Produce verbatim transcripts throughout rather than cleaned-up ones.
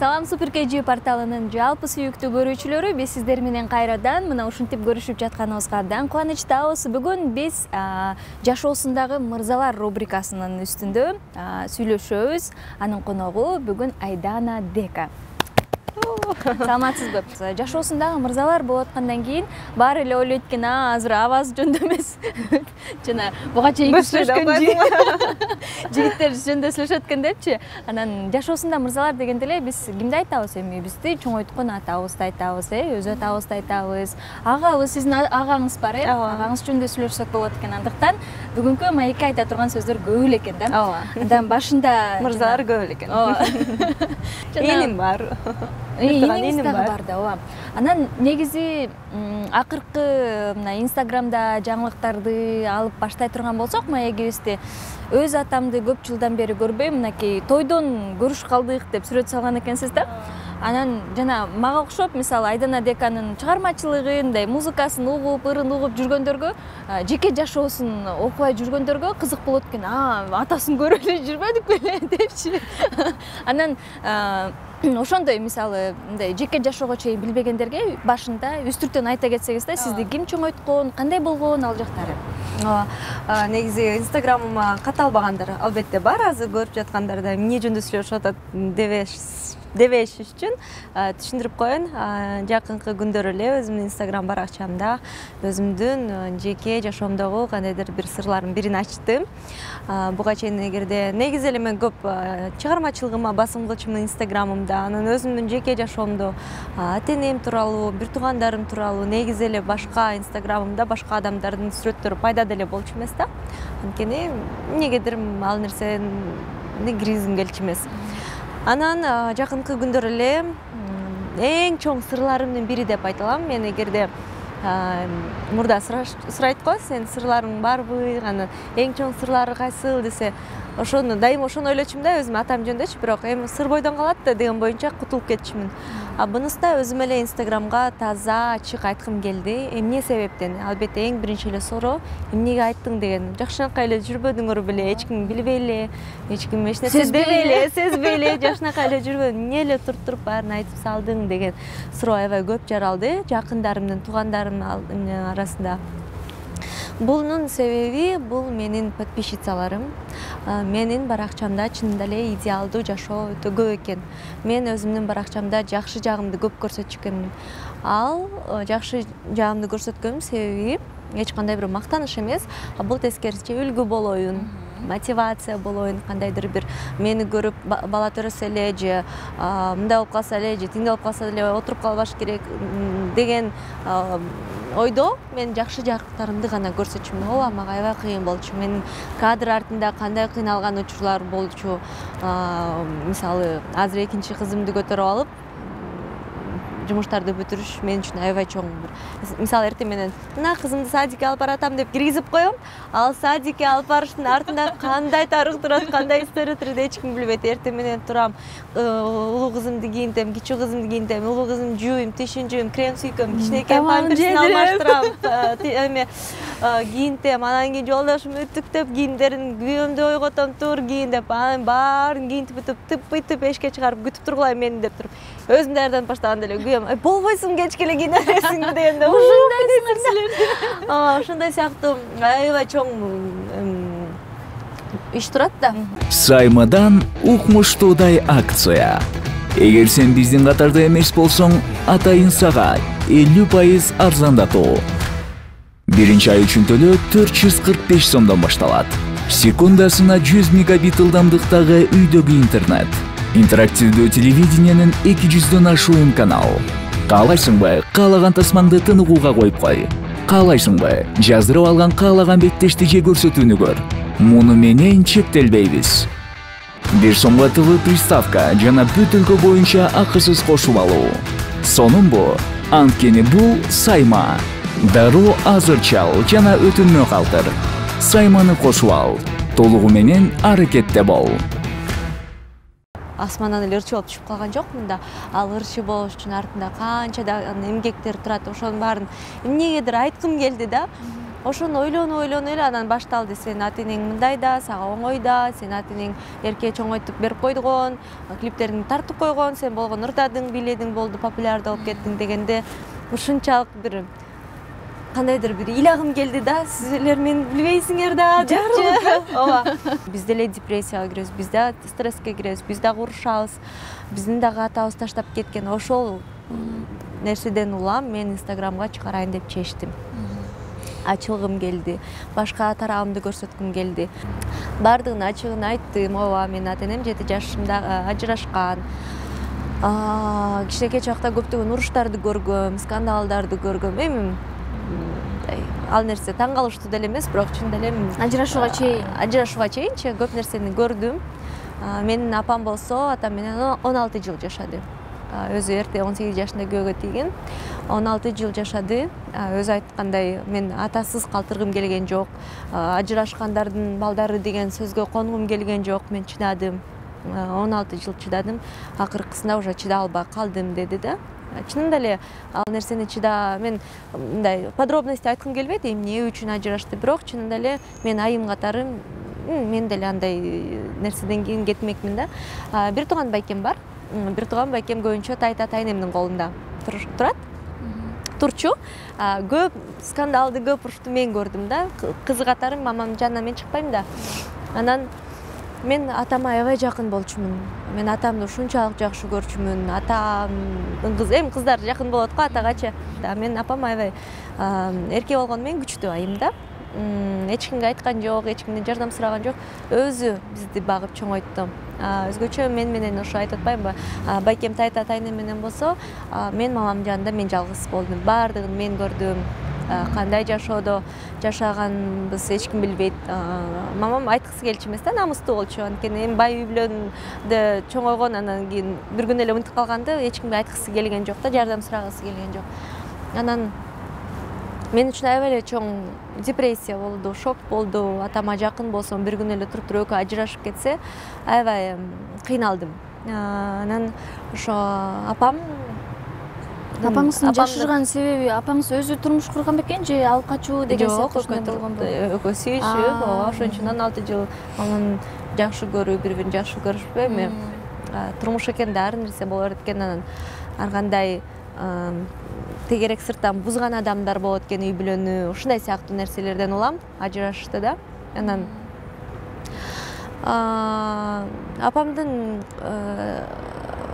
Салам Супер кей джи порталынын жалпы сүйүктүү көрүүчүлөрү, биз сиздер менен кайрадан мына ушинтип көрүшүп жатканыбызга абдан кубанычтабыз. Бүгүн биз жашоосундагы мырзалар рубрикасынын үстүндө сүйлөшөбүз. Анын коногу бүгүн Айдана Дека. Саламатсызбы? Жашоосундагы мырзалар болуп аткандан кийин баары эле ойлойт экен, а азыр абазы жөнүндө эмес. Жана буга чейин сүйлөшкөн жигиттер жөнүндө сүйлөшөт экен депчи. Анан жашоосунда мырзалар дегенде эле биз кимди айтабыз эми? Бизди чоңойткон атабызды айтабыз, э, өз атабызды айтабыз. Агабыз, сиздин агаңыз бар, э? Агаңыз жөнүндө сүйлөшсөк болот экен. Андыктан бүгүнкү маекке айта турган сөздөр көп эле экен да. Ооба. Андан башында мырзалар көп эле экен. Ооба. Эним бар. Эниңиз дагы бар да, ооба. Анан негизи акыркы мына Инстаграмда жаңылыктарды алып баштай турган болсок, маегибизди өз атамды көп жылдан бери көрбөйм, мынакей тойдон көрүш калдык деп сүрөт салган экенсиз да. Анан жана мага окшоп, мисалы Айдана Деканын чыгармачылыгын, мындай музыкасын угуп, ырын угуп жүргөндөргө, жеке жашоосун окубай жүргөндөргө кызык болот экен. А, атасын көрүп эле жүрбөдүк беле депчи. Анан ошондой мисалы мындай жеке жашоого чейин билбегендерге башында үстүртөн айта кетсеңиз да, сизди ким чоңойткон, кандай болгон ал жактары? Ооба. Негизи Инстаграмыма каталбагандар албетте бар, азыр көрүп жаткандар да эмне жөнүндө сүйлөшүп атат дебеш дебеш үчүн түшүндүрүп коеюн. Жакынкы күндөр эле өзүмдүн Инстаграм баракчамда өзүмдүн жеке жашоомдогу кандайдыр бир сырлардын бирин ачтым. Буга чейин эгерде негизи эле мен көп чыгармачылыгыма басым кылчумун Инстаграмымда, анан өзүмдүн жеке жашоомдо ата-энем тууралуу, бир туугандарым тууралуу негизи эле башка Инстаграмымда башка адамдардын сүрөттөрү пайда деле болчу эмес да. Анткени эмнегедир ал нерсени киргизгим келчү эмес. Анан жакынкы күндөр эле эң чоң сырларымдын бири деп айта алам. Мен эгерде мурда сурайт го, сен сырларың барбы, анан эң чоң сырлары кайсыл десе, ошону дайыма ошону ойлочумун да, өзүм атам жөнүндөчү, бирок эми сыр бойдон калат да деген боюнча кутулуп кетчүмүн. А бунусу да өзүм эле Инстаграмга таза ачык айткым келди. Эмне себептен? Албетте эң биринчи эле суроо эмнеге айттың деген. Жакшынакай эле жүрбөдүңөр беле, эч ким билбей эле, эч ким эч нерсе дебей эле, сезбей эле, жакшынакай эле жүрбөдүң, эмне эле туруп туруп баарын айтып салдың деген суроо аябай көп жаралды жакындарымдын, туугандарымдын арасында. Бунун себеби бул менин подписчицаларым. Менин баракчамда чынында эле идеалдуу жашоо өтө көп экен. Мен өзүмдүн баракчамда жакшы жагымды көп көрсөтчү экенмин. Ал жакшы жагымды көрсөткөнүм себеби эч кандай бир мактаныш эмес, а бул тескерисинче үлгү болоюн, мотивация болоюн, кандайдыр бир мени көрүп бала төрөсө эле же мындай болуп калса эле же тиңдей болуп калса эле отуруп калбаш керек деген ойдо мен жакшы жактарымды гана көрсөтчүмүн. Ооба, мага аябай кыйын болчу. Менин кадр артында кандай кыйналган учурлар болчу. Мисалы, азыр экинчи кызымды көтөрүп алып, жумуштарды бүтүрүш мен үчүн аябай чоң бир. Мисалы, эртең менен мына кызымды садикке алып баратам деп киргизип коем. Ал садикке алып барыштын артында кандай тарых турат, кандай история турат эч ким билбейт. Эртең менен турам, улуу кызымды кийинтем, кичүү кызымды кийинтем, улуу кызымды жууйм, тишин жууйм, крем сүйкөм, кичинекей памперсин алмаштырам, эме кийинтем, анан кийин жолдошум үтүктөп кийимдерин күйөөмдү ойготом, тур кийин деп, анан баарын кийинтип бүтүп, тып-тып эшикке чыгарып күтүп тургулайм мени деп туруп, өзүм даярданып баштаганда эле күйөөм, болбойсуң кечке эле кийине бересиң дегенде, ушундайсыңар силер. Ошондой сыяктуу аябай чоң иш турат да. Саймадан укмуштуудай акция. Эгер сен биздин катарда эмес болсоң, атайын сага элүү пайыз арзандатуу. Биринчи ай үчүн төлөө төрт жүз кырк беш сомдон башталат. Секундасына жүз мегабит ылдамдыктагы үйдөгү интернет. Интерактивдүү телевидениянын эки жүздөн ашуун канал. Каалайсыңбы, каалаган тасмаңды тыныгууга коюп кой. Каалайсыңбы, жаздырып алган каалаган беттешти же көрсөтүүнү көр. Муну менен чектелбейбиз. Бир сомго ТВ приставка жана бүт өлкө боюнча акысыз кошуп алуу. Сонун-бу? Анткени бул Сайма. Дароо азыр чал жана өтүнмө калтыр. Сайманы кошуп ал. Толугу менен аракетте бол. Асмандан эле ырчы болуп түшүп калган жокмун да. Ал ырчы болуш үчүн артында канча да эмгектер турат, ошонун баарын эмнегедир айткым келди да. ошону ойлонуп ойлонуп эле анан башталды. Сенин ата энең мындай да, сага оңой да, сенин ата энең эрке чоңойтуп берип койгон, клиптериңди тартып койгон, сен болгону ырдадың, бийледиң, болду, популярдуу болуп кеттиң дегенде ушунчалык бир кандайдыр бир ыйлагым келди да. Силер мени билбейсиңер да депчи. Ооба. Биз деле депрессияга киребиз, биз да стресске киребиз, биз дагы урушабыз. Биздин дагы атабыз таштап кеткен. Ошол нерседен улам мен Инстаграмга чыгарайын деп чечтим. Ачылгым келди. Башка тарабымды көрсөткүм келди. Бардыгын ачыгын айттым. Ооба, менин ата энем жети жашымда ажырашкан. Кичинекей чакта көптөгөн уруштарды көргөм, скандалдарды көргөм. Эми ал нерсе таң калыштуу деле эмес, бирок чын эле ажырашууга чейин ажырашууга чейинчи көп нерсени көрдүм. Менин апам болсо атам менен он алты жыл жашады. Өзү эрте он сегиз жашында күйөөгө тийген. он алты жыл жашады. Өзү айткандай, мен атасыз калтыргым келген жок. Ажырашкандардын балдары деген сөзгө конгум келген жок. Мен чыдадым. он алты жыл чыдадым. Акыркысында уже чыдай албай калдым деди да. Чынында эле ал нерсени чыда, мен мындай подробности айткым келбейт, эмне үчүн ажырашты, бирок чынында эле мен айым катары мен деле андай нерседен кийин кетмекмин да. Бир тууган байкем бар. Бир тууган байкем көбүнчө тайта тайнемдин колунда турат. Турчу. Көп скандалды, көп урушту мен көрдүм да. Кызы катары мамамдын жанынан мен чыкпайм да. Анан мен атама аябай жакын болчумун. Мен атамды ушунчалык жакшы көрчүмүн. Атамдын кызы, эми кыздар жакын болот го атагачы. Мен апам аябай эрке болгону менен күчтүү айым да. Эч кимге айткан жок, эч кимден жардам сураган жок. Өзү бизди багып чоңойтту. Өзгөчө мен менен ошо айтып атпаймынбы? Байкем тайта тайнем менен болсо, мен мамамдын жанында мен жалгыз болдум. Бардыгын мен көрдүм. Кандай жашоодо жашаганбыз эч ким билбейт. Мамам айткысы келчү эмес да, намыстуу болчу. Анткени эми бай үй бүлөндө чоңойгон, анан кийин бир күн эле унутуп калганды эч кимге айткысы келген жок да, жардам сурагысы келген жок. Анан мен үчүн аябай эле чоң депрессия болду, шок болду. Атама жакын болсом, бир күн эле туруп туруп экөө ажырашып кетсе, аябай кыйналдым. Анан ошо апам Апаңыздын жашырган себеби апаңыз өзү турмуш курган бекен же алып качуу деген сыяктуу болгонбу? Экөө сүйүшүп, ооба, ошон үчүн он алты жыл анан жакшы көрүү, бири-бирин жакшы көрүшпөй, эми турмуш экен да, ар нерсе боло берет экен, анан ар кандай тегерек сырттан бузган адамдар болот экен, үй бүлөнү, ушундай сыяктуу нерселерден улам ажырашты да. Анан апамдын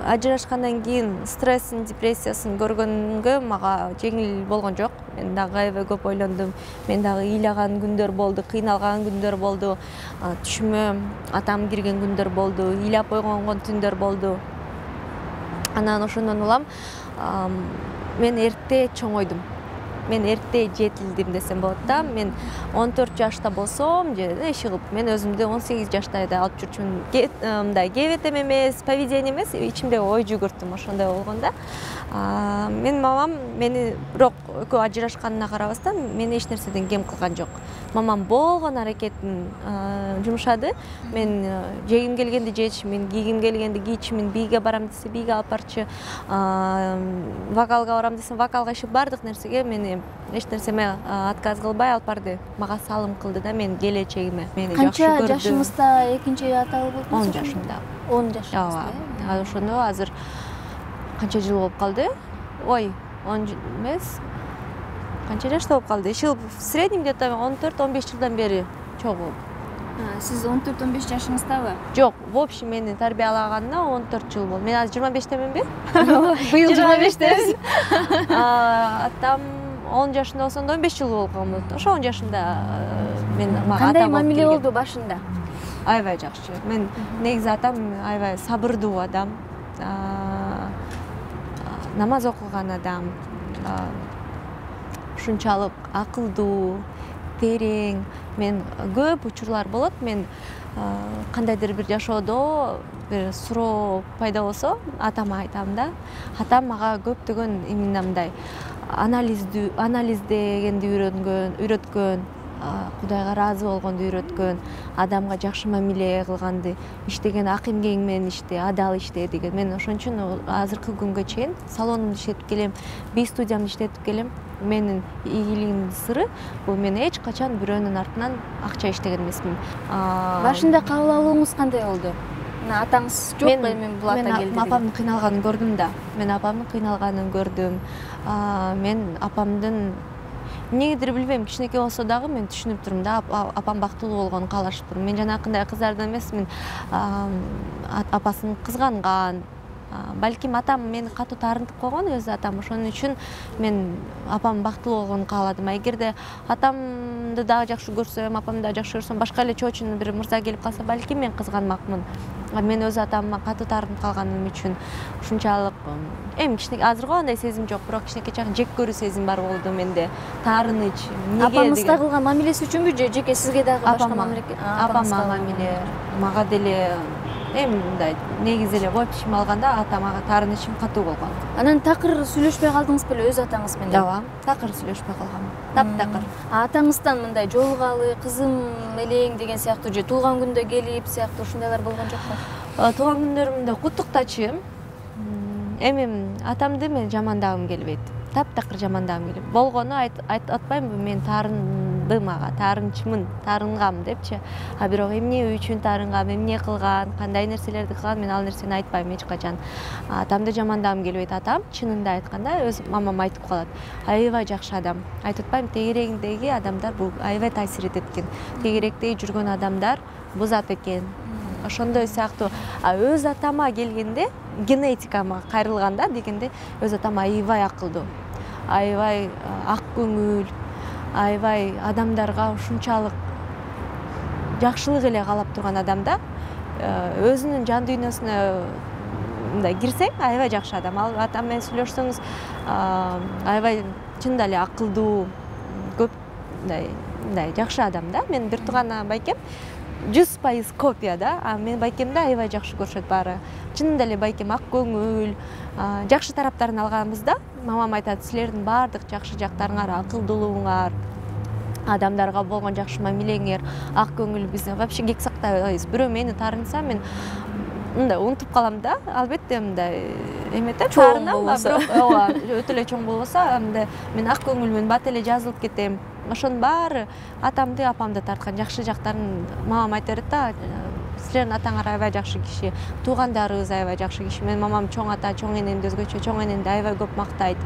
ажырашкандан кийин стрессин, депрессиясын көргөнгө мага жеңил болгон жок. Мен дагы аябай көп ойлондум. Мен дагы ыйлаган күндөр болду, кыйналган күндөр болду. Түшүмө атам кирген күндөр болду, ыйлап койгонгон түндөр болду. Анан ошондон улам мен эрте чоңойдум. Мен эрте жетилдим десем болот да. Мен он төрт жашта болсом, же эч кылып, мен өзүмдү он сегиз жашта да алып жүрчүмүн. Мындай кебетем эмес, поведение эмес, ичимде ой жүгүртүм, ошондой болгондо. Мен мамам мени бирок экөө ажырашканына карабастан мени эч нерседен кем кылган жок. Мамам болгон аракетин жумшады. Мен жегим келгенди жечимин, кийгим келгенди кийчимин, бийге барам десе бийге алып барчы, вокалга барам десем вокалга, иши бардык нерсеге мени эч нерсеме отказ кылбай алып барды. Мага салым кылды да менин келечегиме. Мени жакшы көрдү. Канча жашыңызда экинчи аталы болдуңуз? он жашымда. он жашыңызда. Ооба. Ошону азыр канча жыл болуп калды? Ой, он эмес. Канча жашта болуп калды? Иши в среднем где-то он төрт он беш жылдан бери чогуу. Сиз он төрт он беш жашыңыздабы? Жок, в общем мени тарбиялаганына он төрт жыл болду. Мен азыр жыйырма бештеменби? Быйыл жыйырма бештесиз. Атам он жашында болсондо он беш жыл болуп калган. Ошо он жашында мен мага ата болуп. Кандай мамиле болду башында? Аябай жакшы. Мен негизи атам аябай сабырдуу адам. Намаз окуган адам. Ушунчалык акылдуу, терең. Мен көп учурлар болот. Мен кандайдыр бир жашоодо бир суроо пайда болсо, атама айтам да. Атам мага көптөгөн именно мындай анализдүү, анализдегенди үйрөнгөн, үйрөткөн. Кудайга ыраазы болгонду үйрөткөн, адамга жакшы мамиле кылганды, иштеген ак эмгегиң менен иште, адал иште деген. Мен ошон үчүн азыркы күнгө чейин салонумду иштетип келем, би студиямды иштетип келем. Менин ийгилигимдин сыры бул мен эч качан бирөөнүн артынан акча иштеген эмесмин. Башында кабыл алууңуз кандай болду? Атаңыз жок, эми бул ата келди. Мен апамдын кыйналганын көрдүм да. Мен апамдын кыйналганын көрдүм. Мен апамдын эмнегедир билбейм, кичинекей болсо дагы мен түшүнүп турмун да, апам бактылуу болгонун каалашып турмун. Мен жанакындай кыздардан эмесмин, апасын кызганган. Балким атам мени катуу таарынтып койгон, өз атам. Ошон үчүн мен апам бактылуу болгонун кааладым. Эгерде атамды дагы жакшы көрсөм, апамды дагы жакшы көрсөм, башка эле чоочун бир мырза келип калса, балким мен кызганмакмын. Мен өз атамга катуу таарынтып калганым үчүн ушунчалык эми кичинекей азыркы андай сезим жок, бирок кичинекей чагы жек көрүү сезим бар болду менде. Таарыныч. Апамызга кылган мамилеси үчүнбү же жеке сизге дагы башка мамиле? Апамга мамиле, мага деле эми мындай негизи эле в общем алганда атама таарынычым катуу болгон. Анан такыр сүйлөшпөй калдыңыз беле өз атаңыз менен? Ооба, такыр сүйлөшпөй калгам. Таптакыр. Атаңыздан мындай жолугалы, кызым элең деген сыяктуу же туулган күндө келип сыяктуу ушундайлар болгон жокпу? Туулган күндөрүмдө куттуктачы. Эми атамды мен жамандагым келбейт. Таптакыр жамандагым келбейт. Болгону атпаймынбы, мен таарындым ага, таарынчымын, таарынгам депчи. А бирок эмне үчүн таарынгам, эмне кылган, кандай нерселерди кылган, мен ал нерсени айтпайм эч качан. Атамды жамандагым келбейт. Атам чынында айтканда өз мамам айтып калат. Аябай жакшы адам. Айтып атпайм, тегерегиндеги адамдар бул аябай таасир этет экен. Тегеректе жүргөн адамдар бузат экен. Ошондой сыяктуу. А өз атама келгенде, генетикама кайрылганда дегенде, өз атам аябай акылдуу, аябай ак көңүл, аябай адамдарга ушунчалык жакшылык эле каалап турган адам да. Өзүнүн жан дүйнөсүнө мындай кирсең, аябай жакшы адам. Ал атам менен сүйлөшсөңүз, аябай чынында эле акылдуу, көп мындай мындай жакшы адам да. Мен бир тууган байкем жүз пайыз копия да, а мен байкемди аябай жакшы көрүшөт баары. Чынында эле байкем ак көңүл, жакшы тараптарын алганбызда, мамам айтат, силердин баардык жакшы жактарыңар, акылдуулугуңар, адамдарга болгон жакшы мамилеңер, ак көңүл, биз вообще кек сактайбыз. Бирөө мени таарынса, мен мындай унутуп калам да. Албетте мындай эмете таарынам, бирок ооба, өтө эле чоң болбосо, мындай мен ак көңүлмүн, бат эле жазылып кетем. Ошонун баары атамды, апамды тарткан жакшы жактарын мамам айта берет да. Силердин атаңар аябай жакшы киши, туугандарыбыз аябай жакшы киши. Менин мамам чоң ата, чоң энемди өзгөчө, чоң энемди аябай көп мактайт.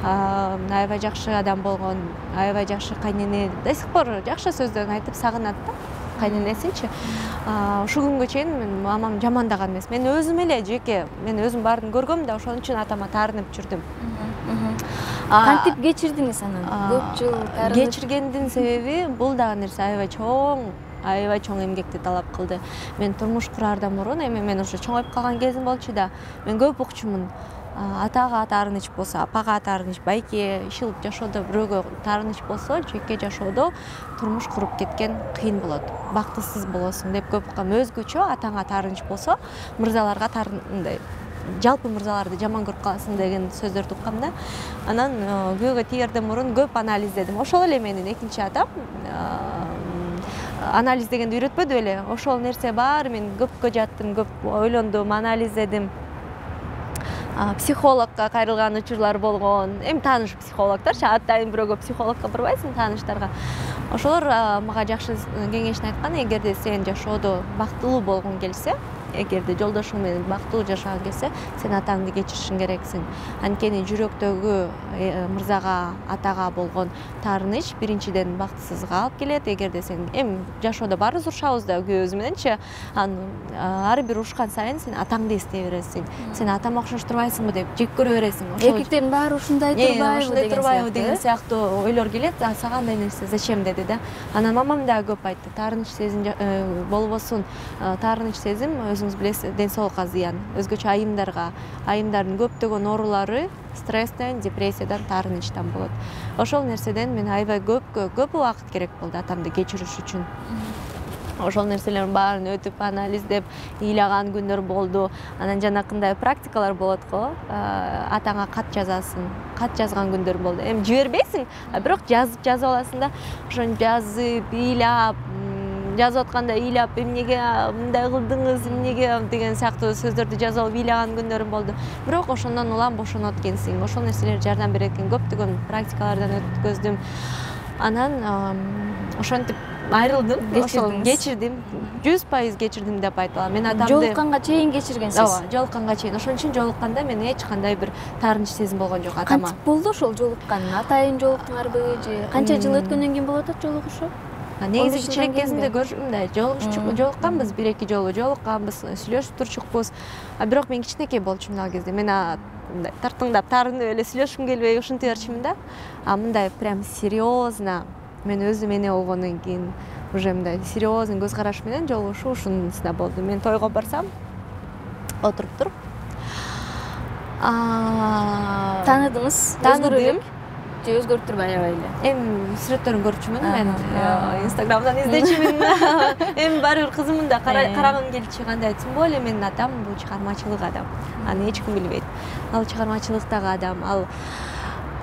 Аябай жакшы адам болгон, аябай жакшы кайнене. До сих пор жакшы сөздөрүн айтып сагынат да. Кайненесинчи. Ушул күнгө чейин мен мамам жамандаган эмес. Мен өзүм эле жеке, мен өзүм баарын көргөм да, ошон үчүн атама таарынып жүрдүм. Кантип кечирдиңиз анан? Көп жыл таарынып кечиргендин себеби бул дагы нерсе аябай чоң, аябай чоң эмгекти талап кылды. Мен турмуш кураардан мурун, эми мен уже чоңоюп калган кезим болчу да, мен көп укчумун. Атага таарыныч болсо, апага таарыныч, байке, иш кылып жашоодо бирөөгө таарыныч болсо, жеке жашоодо турмуш куруп кеткен кыйын болот. Бактысыз болосуң деп көп уккам. Өзгөчө атаңа таарыныч болсо, мырзаларга таарындай, жалпы мырзаларды жаман көрүп каласың деген сөздөрдү уккам да. Анан күйөөгө тийерден мурун көп анализдедим. Ошол эле менин экинчи атам анализ дегенди үйрөтпөдү беле. Ошол нерсе бар, мен көпкө жаттым, көп ойлондум, анализдедим. Психологко кайрылган учурлар болгон. Эми тааныш психологторчу, атайын бирөөгө психологко барбайсың, тааныштарга. Ошолор мага жакшы кеңешин айткан, эгерде сен жашоодо бактылуу болгуң келсе, эгерде жолдошуң менен бактылуу жашагың келсе, сен атаңды кечиришиң керексиң. Анткени жүрөктөгү мырзага, атага болгон таарыныч биринчиден бактысызга алып келет. Эгерде сен эми жашоодо баарыбыз урушабыз да күйөөбүз мененчи, ар бир урушкан сайын сен атаңды эстей бересиң. Сен атама окшош турбайсыңбы деп жек көрө бересиң. Эркектин баары ушундай турбайбы деген сыяктуу ойлор келет. Сага андай нерсе зачем деди да. Анан мамам да көп айтты, таарыныч сезим болбосун. Таарыныч сезим өзүңүз билесиз, ден соолукка зыян. Өзгөчө айымдарга, айымдардын көптөгөн оорулары стресстен, депрессиядан, таарынычтан болот. Ошол нерседен мен аябай көп көп убакыт керек болду атамды кечириш үчүн. ошол нерселердин баарын өтүп анализдеп ыйлаган күндөр болду. Анан жанакындай практикалар болот го, атаңа кат жазасың, кат жазган күндөр болду. Эми жибербейсиң, бирок жазып жазып аласың да, ошону жазып, ыйлап, жазып атканда ыйлап, эмнеге мындай кылдыңыз, эмнеге деген сыяктуу сөздөрдү жазып алып ыйлаган күндөрүм болду. Бирок ошондон улам бошонот экенсиң. Ошол нерселер жардам берет экен. Көптөгөн практикалардан өткөздүм. Анан ошентип айрылдым, ошол кечирдим, жүз пайыз кечирдим деп айта алам. Мен атамды жолукканга чейин кечиргенсиз. Ооба, жолукканга чейин. Ошон үчүн жолукканда мен эч кандай бир таарынч сезим болгон жок атама. Кантип болду ошол жолуккан? Атайын жолуктуңарбы же канча жыл өткөндөн кийин болот атат жолугушуу? Негизи кичирээк кезинде мындай жолукканбыз, бир эки жолу жолукканбыз, сүйлөшүп турчукпуз. Бирок мен кичинекей болчумун ал кезде. Мен мындай тартыңдап, таарынып эле сүйлөшкүм келбей ушинте берчимин да. А мындай прям серьезно мен өзүм эне болгондон кийин уже мындай серьезный көз караш менен жолугушуу ушунусунда болду. Мен тойго барсам, отуруп туруп, тааныдыңыз, тааныдым. Же өзгөртүрбөй аябай эле? Эми сүрөттөрүн көрчүмүн, мен Инстаграмдан издечимин. Эми баары бир кызымын да карагым келчү, кандай, тем более менин атам бул чыгармачылык адам. Аны эч ким билбейт. Ал чыгармачылыктагы адам, ал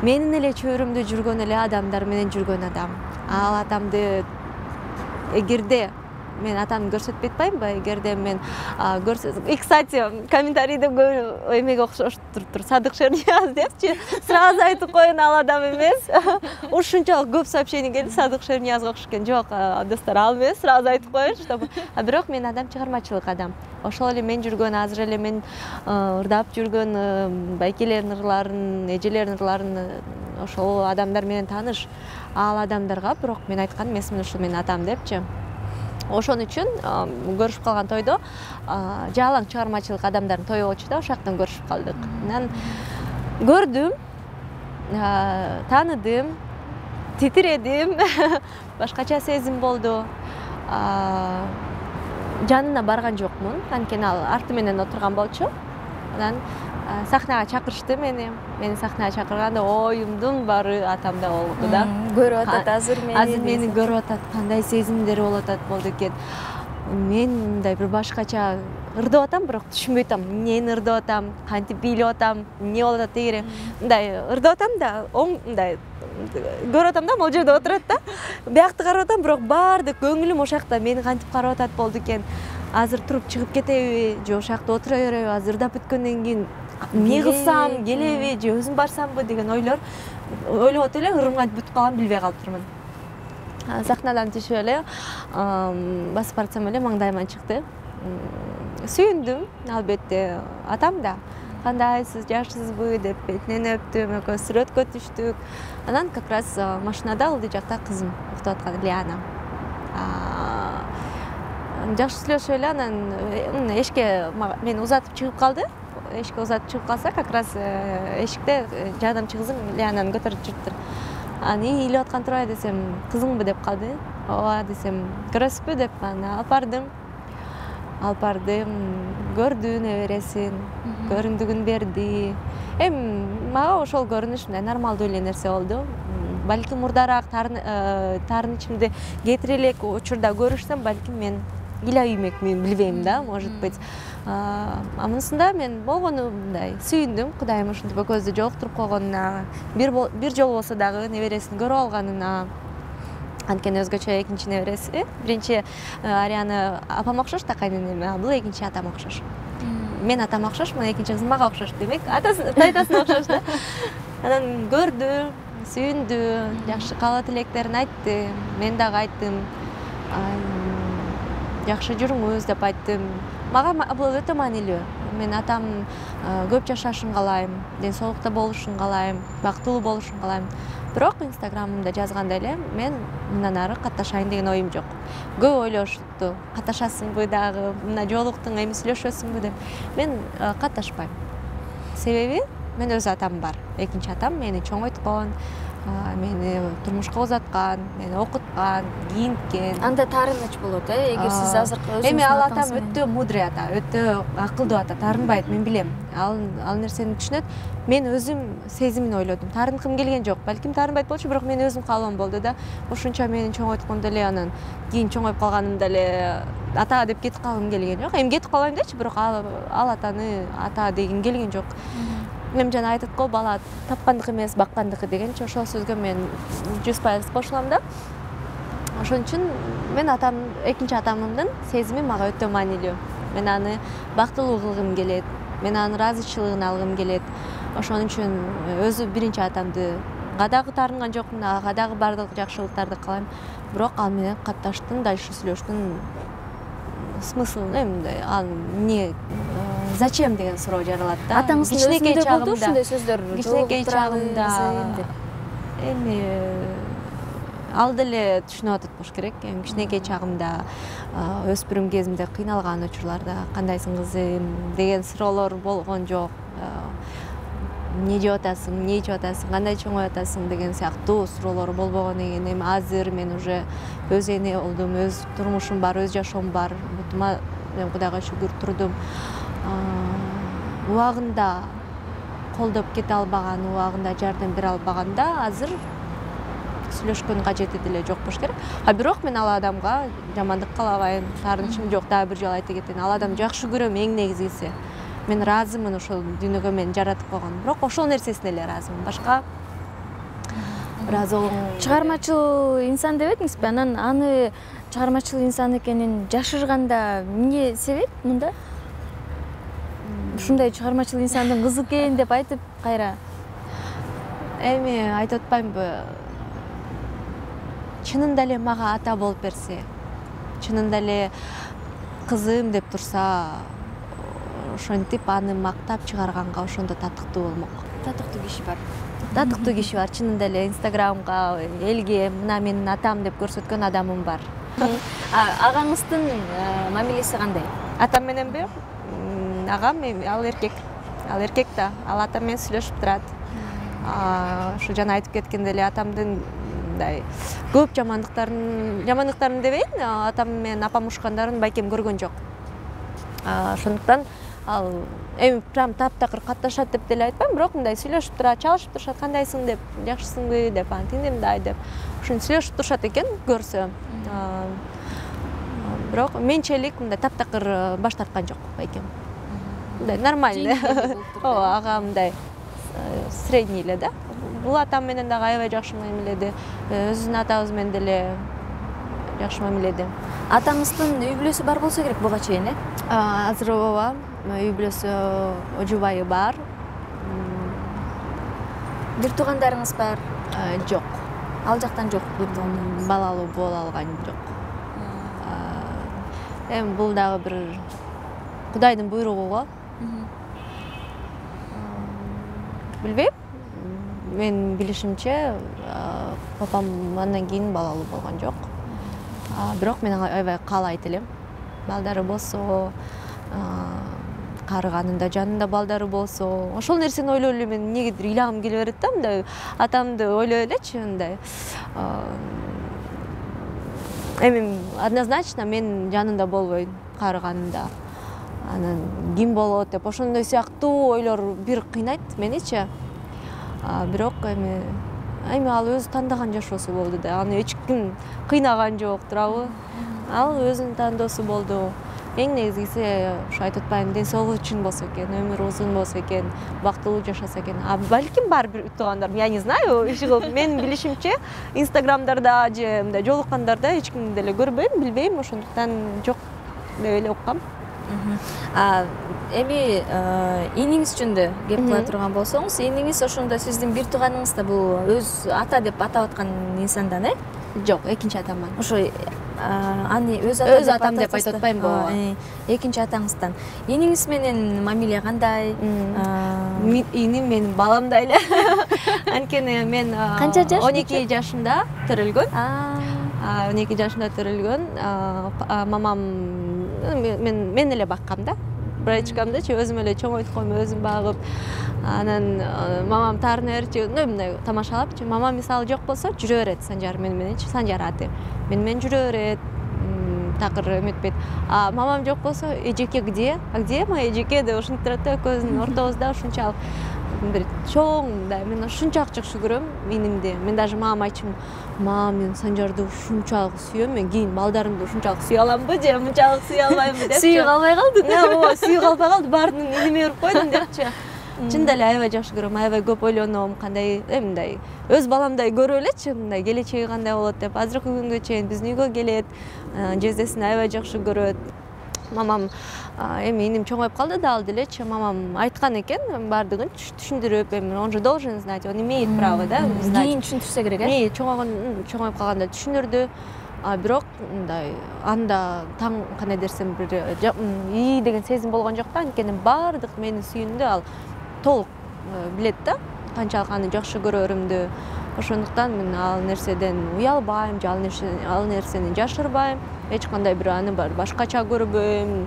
менин эле чөйрөмдө жүргөн эле адамдар менен жүргөн адам. Ал атамды эгерде мен атамды көрсөтпөй атпаймынбы? Эгерде мен көрсөтсөм, кстати, комментарийде эмеге окшош туруптур, Садык Шернияз депчи, сразу айтып коеюн, ал адам эмес. Ушунчалык көп сообщение келди, Садык Шерниязга окшош экен. Жок, достор, ал эмес, сразу айтып коеюн, чтобы. А бирок мен адам чыгармачылык адам. Ошол эле мен жүргөн, азыр эле мен ырдап жүргөн байкелердин ырларын, эжелердин ырларын ошол адамдар менен тааныш. Ал адамдарга бирок мен айткан эмесмин ушул менин атам депчи. Ошон үчүн көрүшүп калган тойдо жалаң чыгармачылык адамдардын тою болчу да, ошол жактан көрүшүп калдык. Анан көрдүм, тааныдым, титиредим, башкача сезим болду. Жанына барган жокмун, анткени ал арты менен отурган болчу. Анан сахнага чакырышты мени. Мени сахнага чакырганда оюмдун баары атамда болду да. Көрүп атат азыр мени. Азыр мени көрүп атат, кандай сезимдер болуп атат болду экен. Мен мындай бир башкача ырдап атам, бирок түшүнбөй атам. Эмнени ырдап атам, кантип бийлеп атам, эмне болуп атат дегере. Мындай ырдап атам да, оң мындай көрүп атам да, могул жерде отурат да. Биякты карап атам, бирок баардык көңүлүм ошол жакта, мени кантип карап атат болду экен. Азыр туруп чыгып кетеби, же ошол жакта отура береби, азыр ырдап бүткөндөн кийин эмне кылсам, келеби, же өзүм барсамбы деген ойлор ойлоп отуп эле ырым кантип бүтүп калганын билбей калыптырмын. Сахнадан түшүп эле басып барсам эле маңдайыма чыкты. Сүйүндүм, албетте. Атам да кандайсыз, жакшысызбы деп бетинен өптүм, экөөбүз сүрөткө түштүк. Анан как раз машинада алдый жакта кызым уктап аткан, Лиана. Жакшы сүйлөшүп эле, анан эшикке мени узатып чыгып калды. Эшикке узатып чыгып калса, как раз эшикте жардамчы кызым Лиананы көтөрүп жүрүптүр. Аны ыйлап аткан турбай десем, кызыңбы деп калды. Ооба десем, көрөсүзбү деп аны алып бардым. Алып бардым, көрдү небересин, көрүндүгүн берди. Эми мага ошол көрүнүш мындай нормалдуу эле нерсе болду. Балким мурдараак таарынычымды кетире элек учурда көрүшсөм, балким мен ыйлабаймекмин, билбейм да, может быть. Амунусунда мен болгону мындай сүйүндүм, Кудайым ушинтип экөөбүздү жолуктуруп койгонуна, бир бир жолу болсо дагы небересин көрүп алганына. Анткени өзгөчө экинчи небереси. Биринчи Ариана апама окшош да, кайненеме, а бул экинчи атама окшош. Мен атама окшошмун, экинчи кызым мага окшош демек, атасы тайтасына окшош да. Анан көрдү, сүйүндү, жакшы каалоо тилектерин айтты, мен дагы айттым. Жакшы жүрүңүз деп айттым. Мага бул өтө маанилүү. Мен атам көп жашашын каалайм, ден соолукта болушун каалайм, бактылуу болушун каалайм. Бирок Инстаграмымда жазгандай эле мен мындан ары катташайын деген оюм жок. Көп ойлошту, катташасыңбы дагы, мына жолуктуң, эми сүйлөшөсүңбү деп. Мен катташпайм. Себеби мен өз атам бар. Экинчи атам мени чоңойткон, мени турмушка узаткан, мени окуткан, кийинткен. Анда таарыныч болот, э, эгер сиз азыркы өзүңүздүн эми ал атам өтө мудрый ата, өтө акылдуу ата, таарынбайт, мен билем. Ал ал нерсени түшүнөт. Мен өзүм сезимин ойлодум. Таарынкым келген жок. Балким таарынбайт болчу, бирок мен өзүм каалоом болду да. Ошончо мени чоңойткон деле, анан кийин чоңоюп калганымда эле ата деп кетип калгым келген жок. Эми кетип калбайм дечи, бирок ал атаны ата дегим келген жок. Эми жана айтат го, бала тапкандык эмес, баккандык дегенчи, ошол сөзгө мен жүз пайыз кошулам да. Ошон үчүн мен атам, экинчи атамдын сезими мага өтө маанилүү. Мен аны бактылуу кылгым келет. Мен анын ыраазычылыгын алгым келет. Ошон үчүн өзү биринчи атамды дагы таарынган жокмун, ага дагы бардык жакшылыктарды каалайм. Бирок ал менен катташтын, дальше сүйлөштүн смыслын, эмне, ал эмне, зачем деген суроо жаралат да. Атаңыздын өзүндө болду ушундай сөздөр? Кичинекей чагымда эми ал деле түшүнүп атат болуш керек. Эми кичинекей чагымда, өспүрүм кезимде кыйналган учурларда кандайсың кызым деген суроолор болгон жок. Эмне жеп атасың, эмне ичип атасың, кандай чоңоюп атасың деген сыяктуу суроолор болбогон экен. Эми азыр мен уже өз эне болдум, өз турмушум бар, өз жашоом бар. Бутума мен Кудайга шүгүр турдум. Убагында колдоп кете албаган, убагында жардам бере албаганда азыр сүйлөшкөн кажети деле жок болуш керек. А бирок мен ал адамга жамандык каалабайм, таарынычым жок. Дагы бир жолу айтып кетейин, ал адамды жакшы көрөм эң негизгиси. Мен ыраазымын ошол дүйнөгө мени жаратып койгон. Бирок ошол нерсесине эле ыраазымын. Башка ыраазы болгон. Чыгармачыл инсан дебедиңизби? Анан аны чыгармачыл инсан экенин жашырганда эмне себеп мында? Ушундай чыгармачыл инсандын кызы экен деп айтып кайра. Эми айтып атпаймынбы? Чынында эле мага ата болуп берсе, чынында эле кызым деп турса, ошентип аны мактап чыгарганга ошондо татыктуу болмок. Татыктуу киши бар. Татыктуу киши бар. Чынында эле Инстаграмга, элге мына менин атам деп көрсөткөн адамым бар. Агаңыздын мамилеси кандай? Атам мененби? Агам эми ал эркек. Ал эркек да. Ал атам менен сүйлөшүп турат. Ошо жана айтып кеткендей эле атамдын мындай көп жамандыктарын, жамандыктарын дебейин, атам менен апам ушкандарын байкем көргөн жок. Ошондуктан ал эми прям таптакыр катташат деп деле айтпайм, бирок мындай сүйлөшүп турат, чалышып турушат, кандайсың деп, жакшысыңбы деп, антип мындай деп. Ошентип сүйлөшүп турушат экен көрсө. Бирок менчелик мындай таптакыр баш тарткан жок байкем. Мындай нормальный. Ооба, ага мындай средний эле да. Бул атам менен дагы аябай жакшы мамиледи. Өзүнүн атабыз менен деле жакшы мамиледи. Атаңыздын үй бүлөсү бар болсо керек буга чейин, э? Азыр ооба, үй бүлөсү, ожубайы бар. Бир туугандарыңыз бар? Жок. Ал жактан жок бир туугандарыңыз? Балалуу боло алган жок. Эми бул дагы бир Кудайдын буйругу го. Билбейм. Мен билишимче, папам андан кийин балалуу болгон жок. Бирок мен аябай каалайт элем. Балдары болсо, карыганында жанында балдары болсо, ошол нерсени ойлоп эле мен эмнегедир ыйлагым келе берет да, мындай атамды ойлоп элечи, мындай. Эми однозначно мен жанында болбойм карыганында. Анан ким болот деп ошондой сыяктуу ойлор бир кыйнайт меничи. Бирок эми эми ал өзү тандаган жашоосу болду да. Аны эч ким кыйнаган жок, туурабы? Ал өзүнүн тандоосу болду. Эң негизгиси ушу айтып атпаймынбы, ден соолугу үчүн болсо экен, өмүрү узун болсо экен, бактылуу жашаса экен. А балким бар бир туугандар, я не знаю, менин билишимче, Инстаграмдарда же мындай жолуккандарда эч кимди деле көрбөйм, билбейм, ошондуктан жок деп эле уккам. Эми иниңиз жөнүндө кеп кыла турган болсоңуз, иниңиз ошондо сиздин бир тууганыңыз да бул өз ата деп атап аткан инсандан, э? Жок, экинчи атаман. Ошо аны өз атам деп айтып атпаймынбы? Экинчи атаңыздан. Иниңиз менен мамиле кандай? Иним менин баламдай эле. Анткени мен он эки жашымда төрөлгөн. он эки жашымда төрөлгөн. Мамам мен мен эле баккам да. брачкамдачы өзүм эле чоңойтуп коем, өзүм багып, анан мамам таарына берчи, мындай тамашалапчы. Мамам мисалы жок болсо жүрө берет Санжар мененчи, Санжар аты. Мен менен жүрө берет, такыр эметпейт. А мамам жок болсо, эжеке где? А где моя эжеке деп ушинтип турат да, экөөбүздүн ортобузда ушунчалык бир чоң да. Мен ушунчалык жакшы көрөм инимди. Мен даже мамама айтчумун, мам, мен Санжарды ушунчалык сүйөм, мен кийин балдарымды ушунчалык сүйө аламбы же мынчалык сүйө албаймбы деп. Сүйүп албай калдың. Ооба, сүйүп албай калды, баардыгын иниме берип койдум депчи. Чында эле аябай жакшы көрөм, аябай көп ойлоном, кандай мындай өз баламдай көрүп элечи, мындай келечеги кандай болот деп. Азыркы күнгө чейин биздин үйгө келет, жездесин аябай жакшы көрөт. Мамам эми иним чоңоюп калды да, ал делечи. Мамам айткан экен баардыгын түшүндүрүп, эми он же должен знать, он имеет право, да, знать. Кийин түшүндүрсө керек, э? Эми чоңойгон, чоңоюп калганда түшүндүрдү. А бирок мындай анда таң кандай десем бир ии деген сезим болгон жок да, анткени баардык менин сүйүүмдү ал толук билет да, канчалык аны жакшы көрөрүмдү. Ошондуктан мен ал нерседен уялбайм, же ал нерсени жашырбайм. Эч кандай бир аны башкача көрбөйм.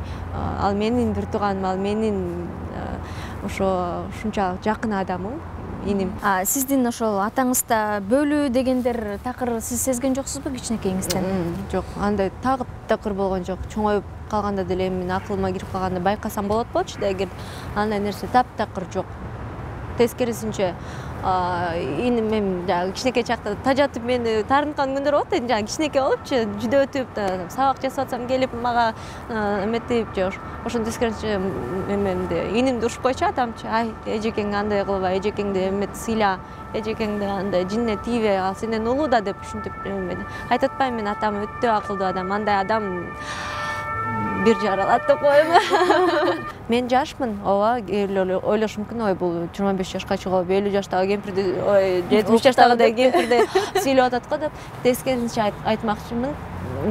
Ал менин бир тууганым, ал менин ошо ушунчалык жакын адамым, иним. А сиздин ошол атаңызда бөлүү дегендер такыр сиз сезген жоксузбу кичинекейиңизден? Жок, андай тагып такыр болгон жок. Чоңоюп калганда деле мен акылыма кирип калганда байкасам болот болчу да, эгер андай нерсе таптакыр жок. Тескерисинче, иним эми жана кичинекей чакта тажатып мени таарынткан күндөр болот да, жана кичинекей болупчу, жүдө өтүп, сабак жасап атсам келип мага эметип же ошондон тескерисинче эмемди, инимди урушпойчу атамчы. Ай, эжекеңди андай кылба, эжекеңди эмет сыйла, эжекеңди андай жинине тийбе, ал сенден улуу да деп ушинтип эмеди. Айтып атпаймынбы, мен атам өтө акылдуу адам, андай адам бир жаралат деп коем. Мен жашмын, ооба, ойлош мүмкүн, ой бул жыйырма беш жашка чыгып, элүү жаштагы кемпирди, ой, жетимиш жаштагыдай кемпирди сүйлөп атат го деп. Тескерисинче айтмакчымын,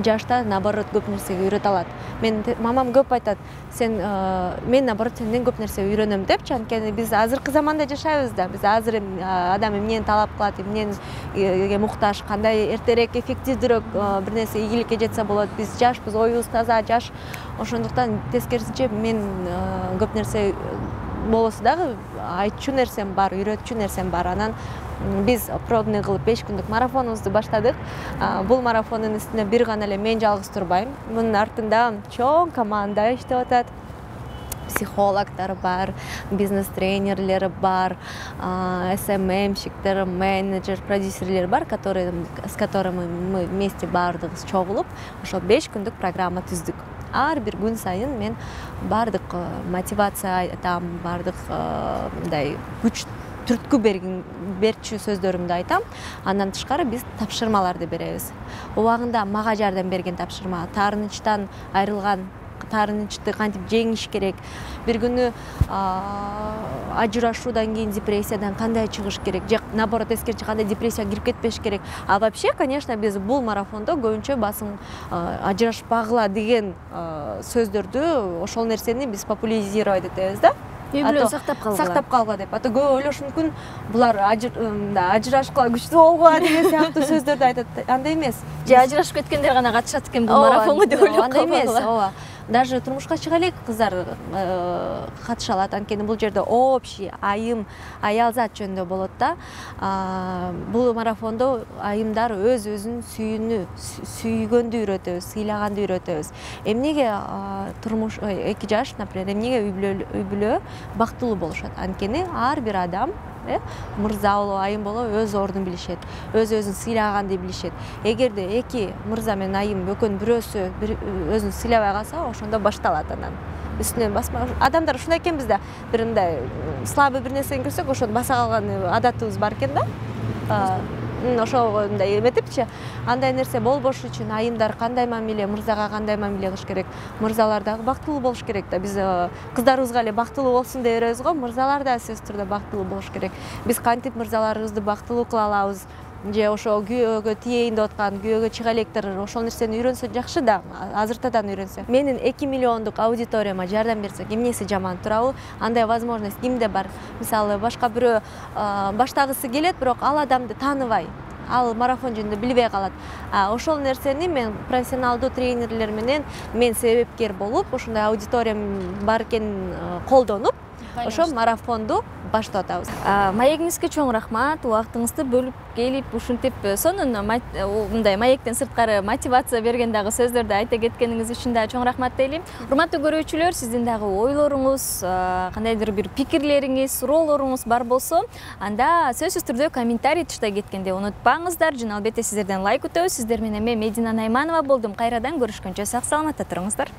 жашта наоборот көп нерсеге үйрөтө алат. Мен мамам көп айтат, сен мен наоборот сенден көп нерсе үйрөнөм депчи, анткени биз азыркы заманда жашайбыз да. Биз азыр адам эмнени талап кылат, эмнеге муктаж, кандай эртерээк эффективдүүрөөк бир нерсе ийгиликке жетсе болот. Биз жашпыз, оюбуз таза, жаш. Ошондуктан тескерисинче мен көп нерсе болосо дагы айтчу нерсем бар, үйрөтчү нерсем бар. Анан биз пробный кылып беш күндүк марафонубузду баштадык. Бул марафондун үстүнө бир гана эле мен жалгыз турбайм. Мунун артында чоң команда иштеп атат. Психологдор бар, бизнес-тренерлер бар, эс эм эм-щиктер, менеджер, продюсерлер бар, которые, с которыми мы вместе баардыгыбыз чогулуп, ошол беш күндүк программа түздүк. Ар бир күн сайын мен баардык мотивация айтам, баардык мындай күч түрткү берчү сөздөрүмдү айтам. Андан тышкары биз тапшырмаларды беребиз. Убагында мага жардам берген тапшырма, таарынычтан айрылган, таарынычты кантип жеңиш керек, бир күнү ажырашуудан кийин депрессиядан кандай чыгыш керек, же наоборот тескерисинче кандай депрессияга кирип кетпеш керек. А вообще, конечно, биз бул марафондо көбүнчө басым ажырашпагыла деген сөздөрдү, ошол нерсени биз популяризировать этебиз да. Үй бүлөнү сактап калгыла. Сактап калгыла деп. Ата көп ойлош мүмкүн, булар ажырашкыла күчтүү болгула деген сыяктуу сөздөрдү айтат. Андай эмес. Же ажырашып кеткендер гана катышат экен бул марафонго деп ойлоп калгыла. Андай эмес, ооба. Даже турмушка чыга элек кыздар катыша алат, анткени бул жерде общий айым, аялзат жөнүндө болот да. Бул марафондо айымдар өз өзүн сүйүүнү, сүйгөндү үйрөтөбүз, сыйлаганды үйрөтөбүз. Эмнеге турмуш эки жаш, например, эмнеге үй бүлө бактылуу болушат? Анткени ар бир адам мырза болобу, айым болобу өз ордун билишет, өз өзүн сыйлаганды билишет. Эгерде эки мырза менен айым экөөнүн бирөөсү өзүн сыйлабай калса, ошондо башталат анан. Үстүнөн басма. Адамдар ушундай экенбиз да, бир мындай слабый бир нерсени көрсөк, ошону баса калган адатыбыз бар экен да. Ошого мындай эметипчи, андай нерсе болбош үчүн айымдар кандай мамиле, мырзага кандай мамиле кылыш керек, мырзалар дагы бактылуу болуш керек да. Биз кыздарыбызга эле бактылуу болсун деп беребиз го, мырзалар да сөзсүз түрдө бактылуу болуш керек. Биз кантип мырзаларыбызды бактылуу кыла алабыз, же ошо күйөөгө тиейин деп аткан күйөөгө чыга электер ошол нерсени үйрөнсө жакшы да, азыртадан үйрөнсө. Менин эки миллиондук аудиторияма жардам берсек, эмнеси жаман турабы? Андай возможность кимде бар? Мисалы, башка бирөө баштагысы келет, бирок ал адамды тааныбай. ал марафон жөнүндө билбей калат. Ошол нерсени мен профессионалдуу тренерлер менен мен себепкер болуп, ошондой аудиториям бар экенин колдонуп, ошо марафонду баштап атабыз. Маегиңизге чоң рахмат, убактыңызды бөлүп келип, ушинтип сонун мындай маектен сырткары мотивация берген дагы сөздөрдү айта кеткениңиз үчүн да чоң рахмат дейли. Урматтуу көрүүчүлөр, сиздин дагы ойлоруңуз, кандайдыр бир пикирлериңиз, суроолоруңуз бар болсо, анда сөзсүз түрдө комментарий тыштай кеткенди унутпаңыздар. Жана албетте сиздерден лайк күтөбүз. Сиздер менен мен Медина Найманова болдум. Кайрадан көрүшкөнчө сак саламатта туруңуздар.